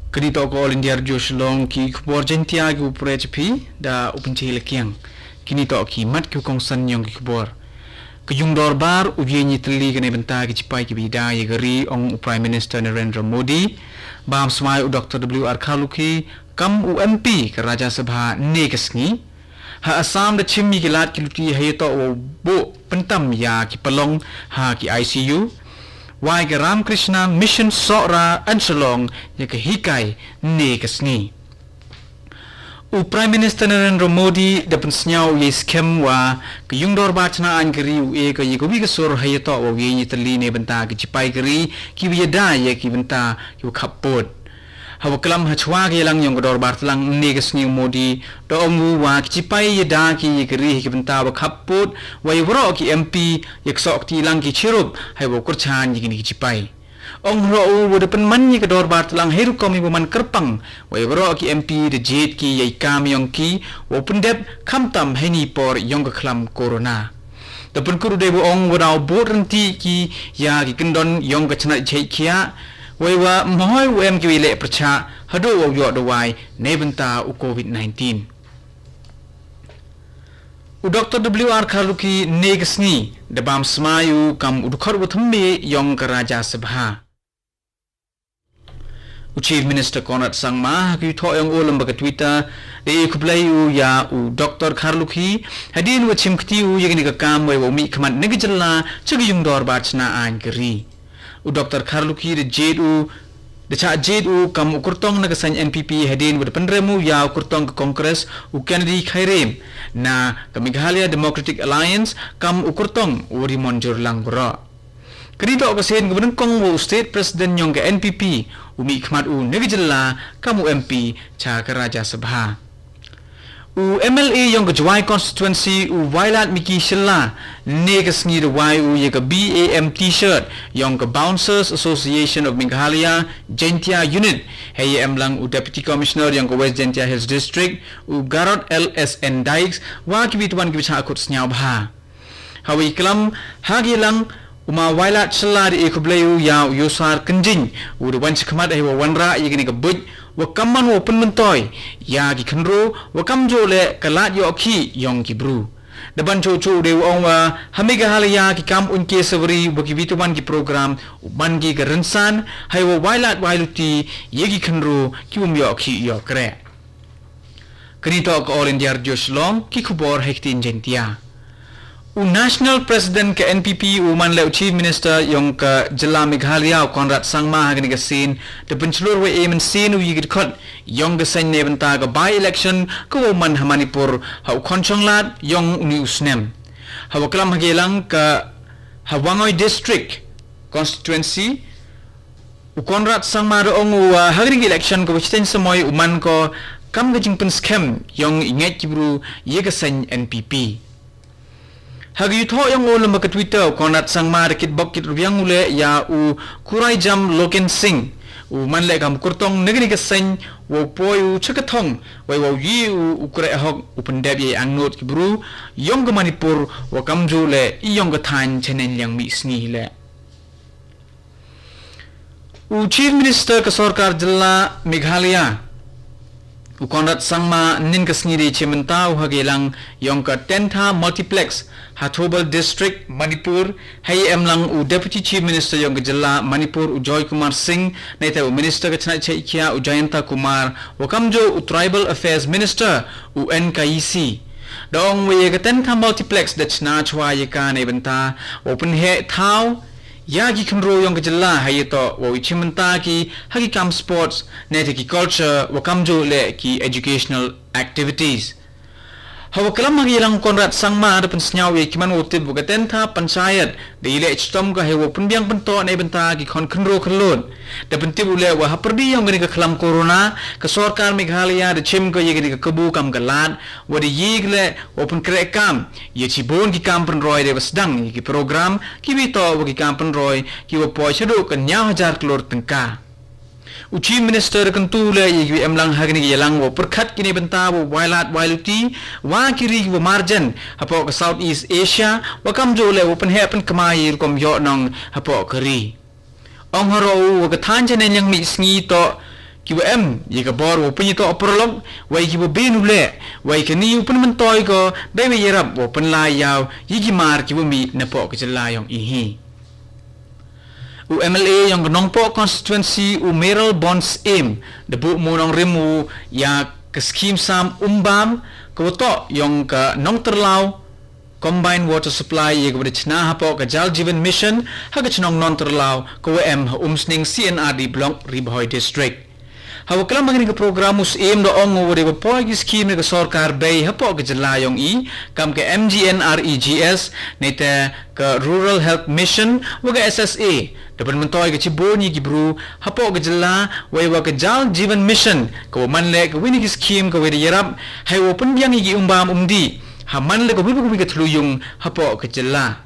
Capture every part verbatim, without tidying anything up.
Kani toh ka All India Radio Shillong, ki khubor Jaiñtia ki u pyrshah phi da u Pynche Lakiang. Kini toh ki mat ki u kongsan yong ki khubor. Ka yung dorbar u ïeng ïatylli kane bynta ki chipai ki ba ïada ïa ka ri, ong u Prime Minister Narendra Modi. Bam smai u Doctor W R Kharlukhi kam u M P ka Rajya Sabha ne ka sngi. Ha Assam da chim ïa ki lad ki luti ha ïatoh wow buh pyntam ïa ki palong ha ki I C U. Wai ka Ramakrishna Mission Sohra Ansalong ïa ka hikai ne ka sngi. U Prime Minister Narendra Modi da pynsngew ïa skhem wa ka yung dorbar chna ain ka ri u e ka ïa ka wi ka sur ha ïatoh wow ïeng ïatylli ne bynta ki chipai ka ri ki wi ïada ïa ki bynta ki wa khap pud. Ha wa klam ha chwa ka ïalang yong ka dorbar tlang ne ka sngi u Modi da ong u wa ki chipai ïada ki ïa ka ri ha ki bynta wa khap pud, wa ïa waroh ki M P ïa ksoh kti lang ki chirup ha wa kyrchan ïa kini ki chipai. Ong roh u wa da pynman ïa ka dorbar tlang ha rukom ïa wa man kyrpang, wa ïa waroh ki M P da jied ki ïa i kam yong ki wow pyndep khamtam ha ini por yong ka khlam corona. Da pynkut u dei wa ong wa daw bud rynti ki ïa ki kyndon yong ka chnat jhait khiah, wei wa mhoi u em ki wi leh pyrchah haduh wow ïoh dawai ne bynta u covid nineteen. U Doctor W R Kharlukhi ne ka sngi da bam smai u kam u dkhot wa thymme yong ka Rajya Sabha. U Chief Minister Conrad Sangma ha ka ïathoh yong u lem bad ka Twitter da e khublei u ïa u Doctor Kharlukhi hadien wa chim kti u ïa kane ka kam wei wow mih khmat na ka jylla cha ka yung dorbar chna ain ka ri. U Doctor Kharlukhi da jied u da chah jied u kam u kyrtong na ka seng N P P hadien wa da pynrem u ïa u kyrtong ka Congress u Kennedy Khairem na ka Meghalaya Democratic Alliance kam u kyrtong u Rimonjurlang Bro. Kani toh ka sien ka banyngkong wa u State President yong ka N P P u mih khmat u na ka jylla kam u M P cha ka Rajya Sabha. U M L A yong ka Jowai Constituency u Wailadmiki Shylla ne ka sngi da wai u ïa ka B A M T-shirt yong ka Bouncers Association of Meghalaya Jaiñtia Unit. Hei em lang u Deputy Commissioner yong ka West Jaiñtia Hills District u Garod L S N Dykes wa ki wi twan ki wi chah khut sniaw bha. Ha wi klam ha ki lang u ma Wailad Shylla da e khublei u ïa u Yusar Kynjing u da wan chi khmat hei wa wanrah ïa kane ka buit wa kam man wa pynmyntoi ïa ki khynro wa kam jooh leh ka lad ïoh khih yong ki bru. Da ban chuh chuh u dei wa ong wa ha Meghalaya ki kam uiñke sawri wa ki wi twan ki program u ban ki ka rynsan hei wa wailad wailuti ïa ki khynro ki um ïoh khih ïoh kreh. Kani toh ka All India Radio Shillong, ki khubor ha i ktien Jaiñtia. U National President ka N P P u man leh u Chief Minister yong ka jylla Meghalaya u Conrad Sangma ha kani ka sien da pynchlur wa e mynsiem u ïa ki dkhot yong ka seng ne bynta ka by-election ka wow man ha Manipur ha u Khonchonglad yong uni u snem. Ha wa klam ha ka ïalang ka ha Wangoi District Constituency, u Conrad Sangma da ong u wa ha kani ka election ka wa chiteng samoi u man ko kam ka jingpynskhem yong i ngeit ki bru ïa ka seng N P P. Ha ka ïathoh yong u lem bad ka Twitter u Conrad Sangma da kitbok kitrwiang u leh ïa u Kuraijam Loken Singh u man leh kam u kyrtong na kani ka seng wow poi u cha ka thong wei wow ïoh u u kreh hok u pyndep ïa i angnud ki bru yong ka Manipur wa kam jooh leh i yong ka thaiñ chaneng liang mih sngi leh. U Chief Minister ka sorkar jylla Meghalaya u Conrad Sangma nin ka sngi da chimbynta u ha ka ïalang yong ka Tentha Multiplex ha Thoubal District Manipur. Hei em lang u Deputy Chief Minister yong ka jylla Manipur u Joy Kumar Singh, neita u Minister ka chnat chaikhiah u Jayanta Kumar wa kam jooh u Tribal Affairs Minister u N Kaisi. Da ong wa ïa ka Tentha Multiplex da chna chwa ïa ka ne bynta wow pynheh thaw ïa ki khynro yong ka jylla ha ïatoh wow i chimbynta ki ha ki kam sports ne te ki culture wa kam jooh leh ki educational activities. Ha wa klam ha ka ïalang u Conrad Sangma da pynsngew ïa ki man wow tip wa ka Tentha Panchayat da i leh chitom ka hei wow pynbiang pyntoh ne bynta ki khon khynro khyllood. Da pyntip u leh wa ha pyrdi yong kani ka khlam corona ka sorkar Meghalaya da chim ka ïa kani ka kabu kam ka lad wa da ïa ka leh wow pynkreh kam ïa chibun ki kam pynroi da wa sdang ïa ki program ki wi toh wa ki kam pynroi ki wa poi shaduh ka hynñiew hajar klur tyngka. U Chief Minister kyntu leh ïa ki wi em lang ha kani ka ïalang wow pyrkhat ki ne bynta wow wailad wailuti wa ki ri ki wa marjan hapoh ka South East Asia wa kam jooh leh wow pynheh pynkma ïa i rukom ïoh nong hapoh ka ri. Ong haroh u wa ka thaiñ chaneng liang mih sngi toh ki wa em ïa ka bor wa pynïatoh paralok, wei ki wa bun u leh, wei kane u pynmyntoi ko da i wa ïarap wa pynlai ïa u ïa ki mar ki wa mih napoh ka jylla yong i hi. U M L A yong ka Nongpoh constituency u Mayralborn Syiem da buh mo nongrim u ïa ka skim sam umbam ka wa toh yong ka Nongtyrlaw Combined Water Supply ïa ka wa da chna hapoh ka Jal Jeevan Mission ha ka chnong Nongtyrlaw ka wa em ha Umsning C and R D Block, Ri Bhoi District. Ha wa klam ha kane ka program u Syiem da ong u wa da wa poi ki skim na ka sorkar bei hapoh ka jylla yong i, kam ka M G N R E G S, nete ka Rural Health Mission wa ka S S A, da pynmyntoi ka chibun ïa ki bru hapoh ka jylla, wei wa ka Jal Jeevan Mission ka wa man leh ka wi na ki skim ka wa da ïarap hei wa pynbiang ïa ki umbam umdih ha man leh ka wi ka wi ka thlujung hapoh ka jylla.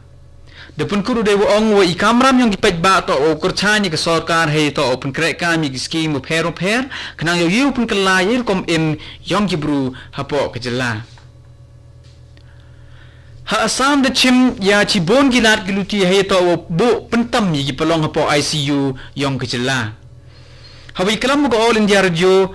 Da pynkut u da wa ong wa i kamram yong ki paidbah toh u kyrchan ïa ka sorkar hei toh u pynkrehkam ïa ki skim bapher bapher, khnang ïa u pynkylla ïa i rukom im yong ki bru hapoh ka jylla. Ha Assam da chim ïa chibun ki lad ki luti hei toh u buh pyntam ïa ki pynlong hapoh I C U yong ka jylla. Ha wa i klam ka All India Radio,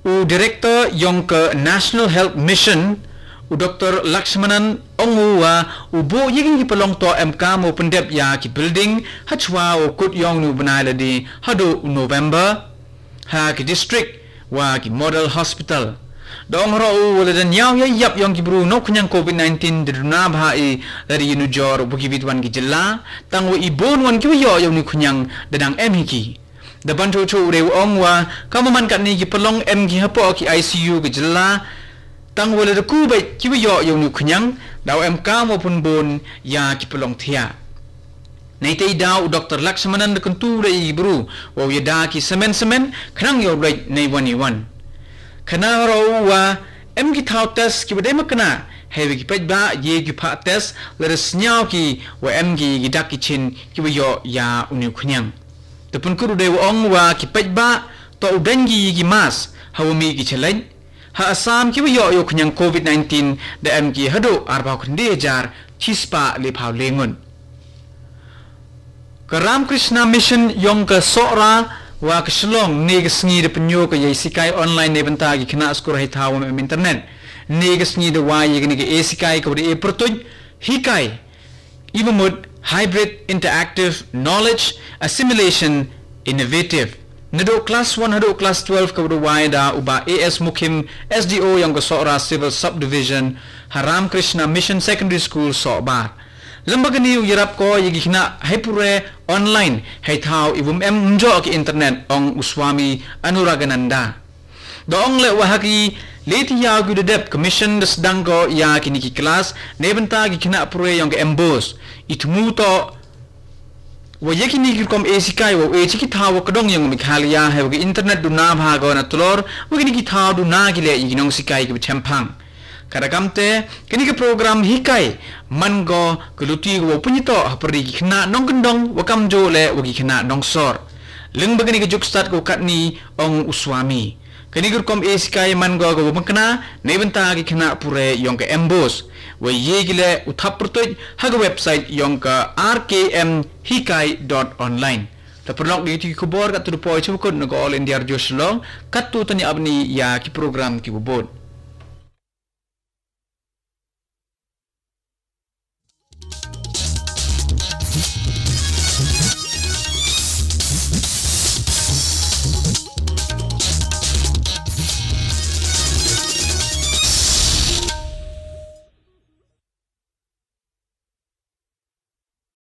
u Director yong ka National Health Mission, u Doctor Lakshmanan, ong u wa u buh ïa ki pynlong toh em kam u pyndep ïa ki building ha chwa u kut yong u bnai lade haduh u November ha ki district wa ki model hospital. Da ong ruh u wa lada ñiaw ïa i yap yong ki bru nongkñiang COVID nineteen da duna bha i lada ïa nujor wa ki wit wan ki jylla, tang wa i bun wan ki wa ïoh ïa u nongkñiang da dang em hi ki. Da ban chuh chuh u da wa ong wa kam wa man katne ki pynlong em ki hapoh ki I C U ka jylla, tang wa lada ku beit ki wa ïoh ïa u nongkñiang, da wa em kam wa pynbun ïa ki pynlong thiah. Neitei da u Doctor Lakshmanan da kyntu da i bru wa u ïada ki semen semen khnang ïa u leit nei wan i wan. Khnang ruh wa em ki thaw test ki wa dei makna hei wa ki paidbah ïa ki phah test lada sñiaw ki wa em ki ki dak ki chin ki wa ïoh ïa u nongkñiang. Da pynkut u da wa ong wa ki paidbah toh u dang ki ïa ki mask ha wa mih ki chalait. Ha Assam ki wa ïoh ïa u kñiang COVID nineteen da em ki haduh arphew khyndai hajar chispah lephew le ngut. Ka Ramakrishna Mission yong ka Sohra wa ka Shillong ne ka sngi da pynïoh ka ïa sikai online ne bynta ki khynnah skul hei thaw wa em internet. Ne ka sngi da wai ïa kane ka e sikai ka wa da e pyrtuid hikai i wa mut hybrid, interactive, knowledge assimilation, innovative. Naduh class one haduh class twelve ka wa da wai da u Bah A S Mukhim, S D O yong ka Sohra Civil Subdivision ha Ramakrishna Mission Secondary School Sohbar. Lem bad kane u ïarap ko ïa ki khynnah hei pule online hei thaw i wa em ym joh ki internet, ong u Swami Anuragananda. Da ong leh wa ha ki le tylli ki da dep ka mission da sdang ko ïa kine ki class ne bynta ki khynnah pule yong ka MBOSE. I thmu toh wa ïa kine ki rukom e sikai wa u e chi ki thaw wa ka dong yong Meghalaya hei wa ka internet duna bha ko na tlor wa kine ki thaw duna ki leh ïa ki nongsikai ki wa chemphang. Ka da kamte kane ka program hikai man ko ka luti ko wa pynïatoh ha pyrdi ki khynnah nongkyndong wa kamjooh leh wa ki khynnah nongsor. Lem bad kane ka juk stad ko katne, ong u Swami. Kane ka rukom e sikai man ko ka wa makna ne bynta ki khynnah pule yong ka MBOSE. Wa ïa ki leh u thap pyrtuid ha ka website yong ka R K M hikai dot online. Da pynlong da ki khubor katto da poi cha wa kut na ka All India Radio Shillong, katto tani ap ni ïa ki program ki wa bud.